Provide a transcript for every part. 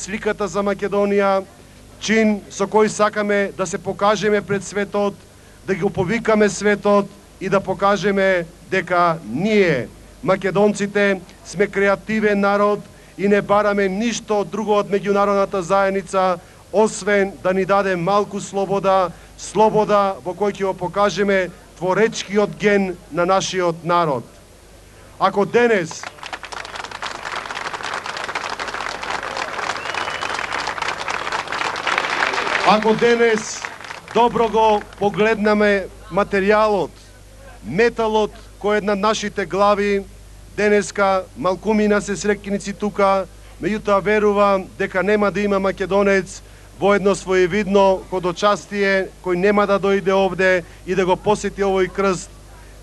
сликата за Македонија, чин со кој сакаме да се покажеме пред светот, да ги оповикаме светот и да покажеме дека ние, македонците, сме креативен народ и не бараме ништо друго од меѓународната заедница, освен да ни даде малку слобода, слобода во кој ќе го покажеме творечкиот ген на нашиот народ. Ако денес добро го погледнаме материјалот, металот кој е на нашите глави, денеска малкумина се среќеници тука, меѓутоа верувам дека нема да има македонец во едно своевидно ходочастие кој нема да дојде овде и да го посети овој крст.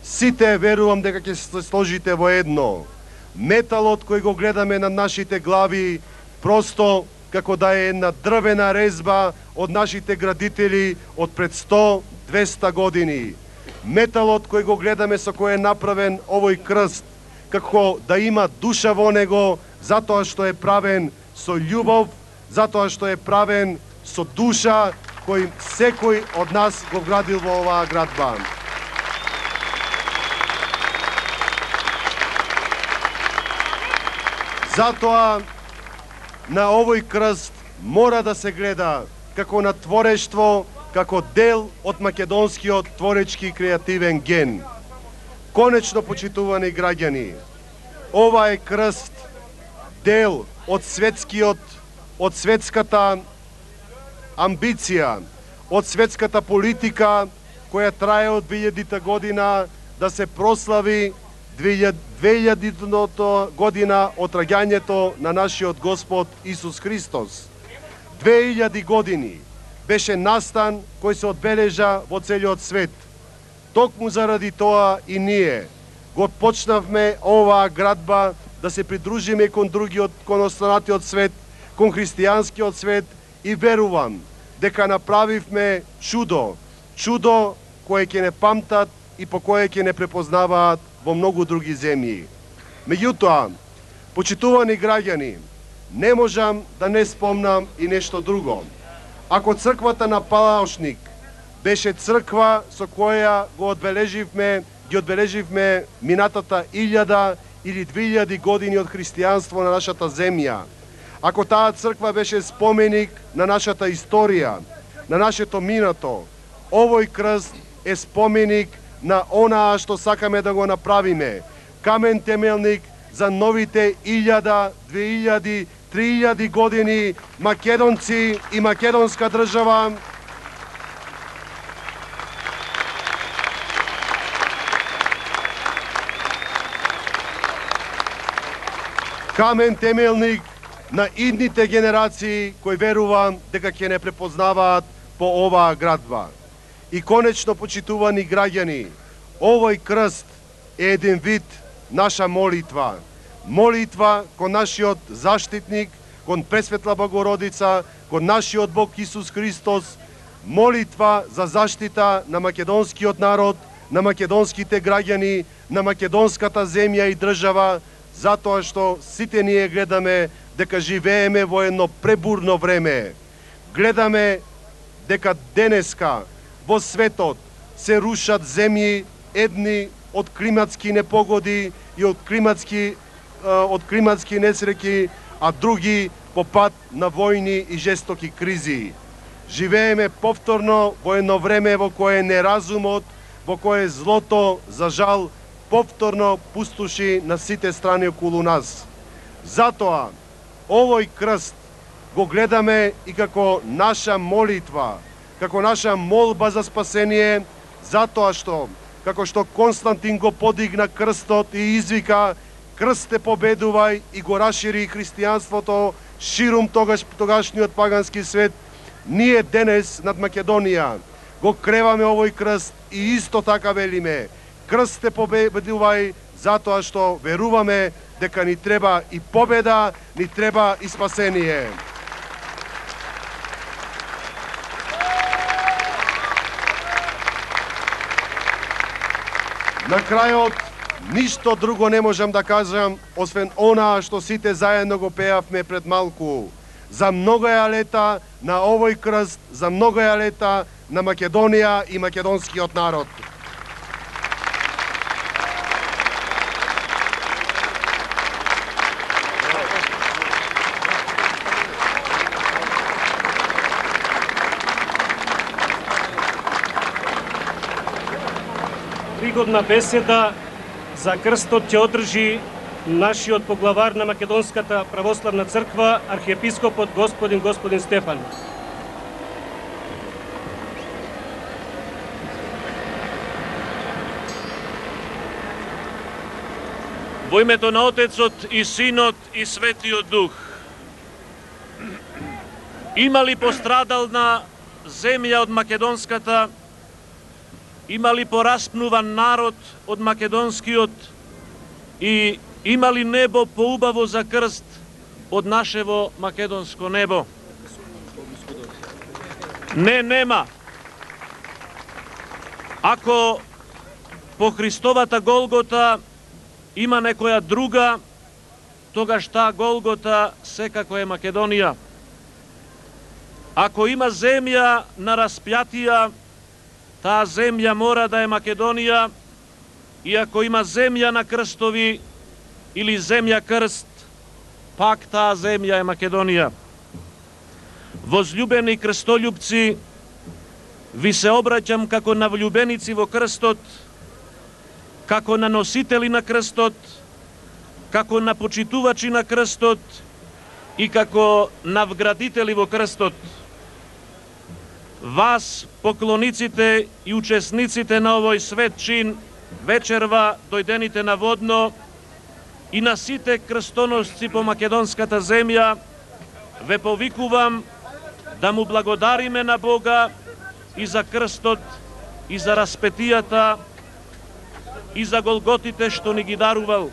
Сите верувам дека ќе се сложите во едно. Металот кој го гледаме на нашите глави просто како да е една дрвена резба од нашите градители од пред 100-200 години. Металот кој го гледаме со кој е направен овој крст, како да има душа во него, затоа што е правен со љубов, затоа што е правен со душа кој секој од нас го вградил во оваа градба. Затоа на овој крст мора да се гледа како на творештво, како дел од македонскиот творечки и креативен ген. Конечно, почитувани граѓани, ова е крст дел од светската амбиција, од светската политика која трае од 2000 година да се прослави 2000 година од раѓањето на нашиот Господ Исус Христос. 2000 години беше настан кој се одбележа во целиот свет. Токму заради тоа и ние го почнавме оваа градба да се придружиме кон другиот, кон останатиот свет, кон христијанскиот свет и верувам дека направивме чудо, чудо кое ќе не памтат и по кое ќе не препознаваат во многу други земји. Меѓутоа, почитувани граѓани, не можам да не спомнам и нешто друго. Ако црквата на Палаошник беше црква со која ги одбележивме минатата 1000 или 2000 години од христијанство на нашата земја, ако таа црква беше споменик на нашата историја, на нашето минато, овој крст е споменик на онаа што сакаме да го направиме. Камен темелник за новите 1000, 2000, 3000 години македонци и македонска држава. Камен темелник на идните генерации кои верувам дека ќе не препознаваат по оваа градба. И конечно, почитувани граѓани, овој крст е еден вид наша молитва. Молитва кон нашиот заштитник, кон Пресветла Богородица, кон нашиот Бог Исус Христос, молитва за заштита на македонскиот народ, на македонските граѓани, на македонската земја и држава, затоа што сите ние гледаме дека живееме во едно пребурно време. Гледаме дека денеска во светот се рушат земји, едни од климатски непогоди и од климатски несреќи, а други по пат на војни и жестоки кризи. Живееме повторно во едно време во кое неразумот, во кое злото, за жал, повторно пустоши на сите страни околу нас. Затоа, овој крст го гледаме и како наша молитва, како наша молба за спасение, затоа што, како што Константин го подигна крстот и извика "Крсте победувај" и го расшири христијанството ширум тогашниот пагански свет, ние денес над Македонија го креваме овој крст и исто така велиме "Крсте победувај", затоа што веруваме дека ни треба и победа, ни треба и спасение. На крајот, ништо друго не можам да кажам, освен онаа што сите заедно го пеавме пред малку. за многоја лета на овој крст, за многоја лета на Македонија и македонскиот народ. Пригодна беседа за крстот ќе одржи нашиот поглавар на Македонската православна црква, архиепископот господин Стефан. Во името на Отецот и Синот и Светиот Дух. Има ли пострадална земја од македонската? Има ли пораспнуван народ од македонскиот? И има ли небо поубаво за крст од нашево македонско небо? Не, нема. Ако по Христовата Голгота има некоја друга, тогаш таа Голгота секако е Македонија. Ако има земја на распјатија, таа земја мора да е Македонија, и ако има земја на крстови или земја крст, пак таа земја е Македонија. Возлюбени крстолюбци, ви се обраќам како на влюбеници во крстот, како на носители на крстот, како на почитувачи на крстот и како на вградители во крстот. Вас, поклониците и учесниците на овој свет чин, вечерва дојдените на Водно и на сите крстоносци по македонската земја, ве повикувам да му благодариме на Бога и за крстот, и за распетијата, и за голготите што ни ги дарувал.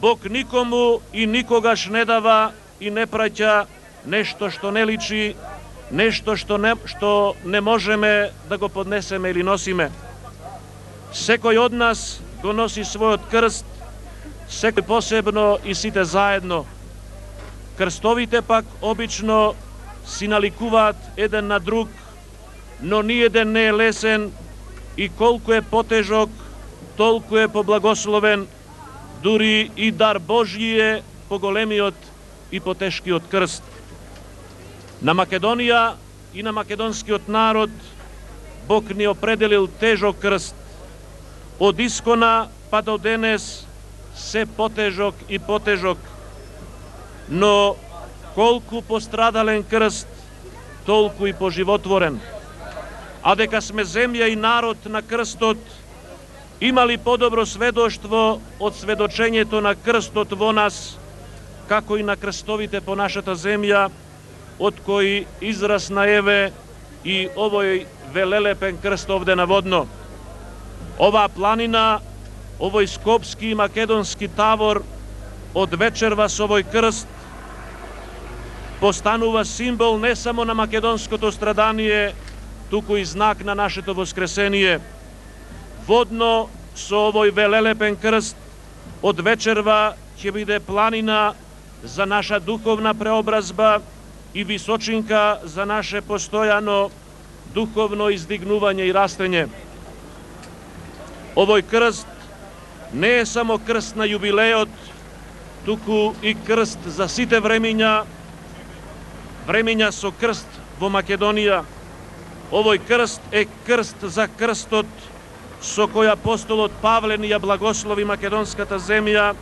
Бог никому и никогаш не дава и не праќа нешто што не личи, нешто што не можеме да го поднесеме или носиме. Секој од нас го носи својот крст, секој посебно и сите заедно. Крстовите пак обично си наликуваат еден на друг, но ниеден не е лесен и колку е потежок, толку е поблагословен, дури и дар Божји е поголемиот и потешкиот крст. На Македонија и на македонскиот народ Бог ни определил тежок крст. Од искона па до денес се потежок и потежок. Но колку пострадален крст, толку и поживотворен. А дека сме земја и народ на крстот, има ли подобро сведоштво од сведочењето на крстот во нас, како и на крстовите по нашата земја, од кои израсна еве и овој велелепен крст овде на Водно. Оваа планина, овој скопски и македонски тавор од вечерва со овој крст постанува символ не само на македонското страдание, туку и знак на нашето воскресение. Водно со овој велелепен крст од вечерва ќе биде планина за наша духовна преобразба и височинка за наше постојано духовно издигнување и растење. Овој крст не е само крст на јубилеот, туку и крст за сите времиња со крст во Македонија. Овој крст е крст за крстот со кој апостолот Павле ни ја благослови македонската земја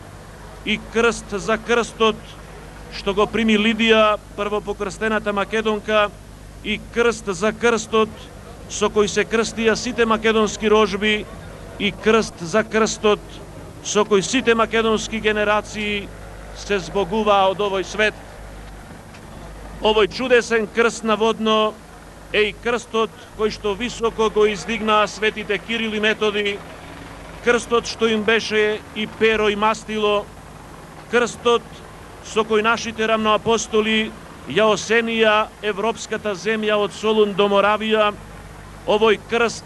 и крст за крстот што го прими Лидија, првопокрстената македонка, и крст за крстот со кој се крстија сите македонски рожби и крст за крстот со кој сите македонски генерации се збогуваа од овој свет. Овој чудесен крст на Водно е и крстот кој што високо го издигнаа светите Кирил и Методи, крстот што им беше и перо и мастило, крстот со кој нашите рамноапостоли ја осенија европската земја од Солун до Моравија. Овој крст